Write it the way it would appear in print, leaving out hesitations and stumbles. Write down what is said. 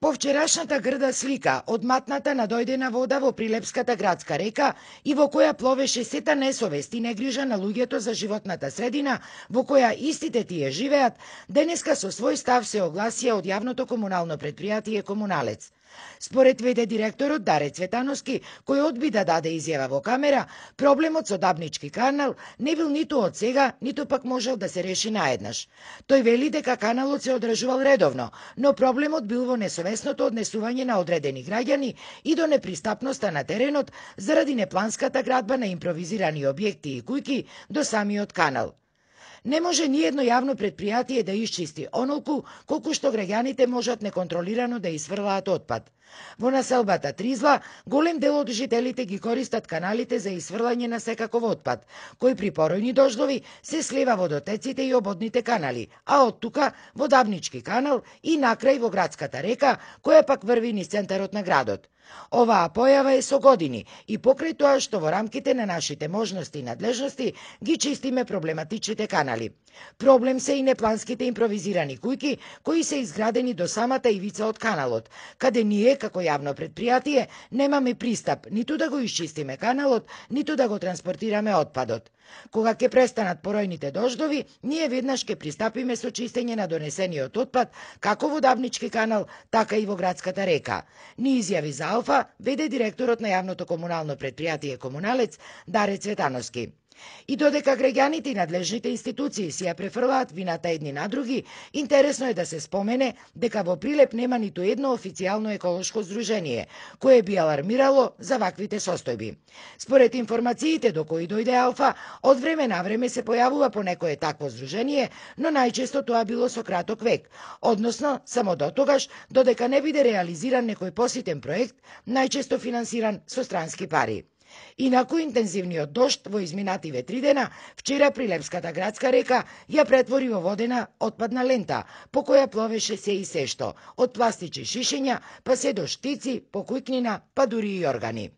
По вчерашната грда слика одматната надојдена вода во Прилепската градска река и во која пловеше сета несовест и негрижа на луѓето за животната средина во која истите тие живеат, денеска со свој став се огласија од јавното комунално предпријатие Комуналец. Според ВД директорот Даре Цветановски, кој одби да даде изјава во камера, проблемот со Дабнички канал не бил ниту од сега, ниту пак можел да се реши наеднаш. Тој вели дека каналот се одржувал редовно, но проблемот бил во несовесното однесување на одредени граѓани и до непристапноста на теренот заради непланската градба на импровизирани објекти и куќи до самиот канал. Не може ниедно јавно предпријатие да исчисти онолку колку што граѓаните можат неконтролирано да изфрлаат отпад. Во населбата Тризла, голем дел од жителите ги користат каналите за изфрлање на секаков отпад, кој при поројни дождови се слива во дотеците и ободните канали, а од тука во Дабнички канал и накрај во градската река, која пак врви низ центарот на градот. Оваа појава е со години и покрај тоа што во рамките на нашите можности и надлежности ги чистиме проблематичните канали. Проблем се и непланските импровизирани куќи кои се изградени до самата ивица од каналот, каде ние како јавно предпријатие немаме пристап ниту да го исчистиме каналот, ниту да го транспортираме отпадот. Кога ќе престанат поројните дождови, ние веднаш ќе пристапиме со чистење на донесениот отпад како во Дабнички канал, така и во градската река. Ни изјави за Алфа ВД директорот на јавното комунално предпријатие Комуналец Даре Цветановски. И додека граѓаните и надлежните институции си ја префрлаат вината едни на други, интересно е да се спомене дека во Прилеп нема ниту едно официјално еколошко здружение, кое би алармирало за ваквите состојби. Според информациите до кои дојде Алфа, од време на време се појавува по некое такво здружение, но најчесто тоа било со краток век, односно само дотогаш додека не биде реализиран некој поситен проект, најчесто финансиран со странски пари. Инаку интензивниот дожд во изминативе 3 дена, вчера Прилепската градска река ја претвори во водена отпадна лента, по која пловеше се и се што, од пластични шишења, па се до штици, покујкнина, па дури и органи.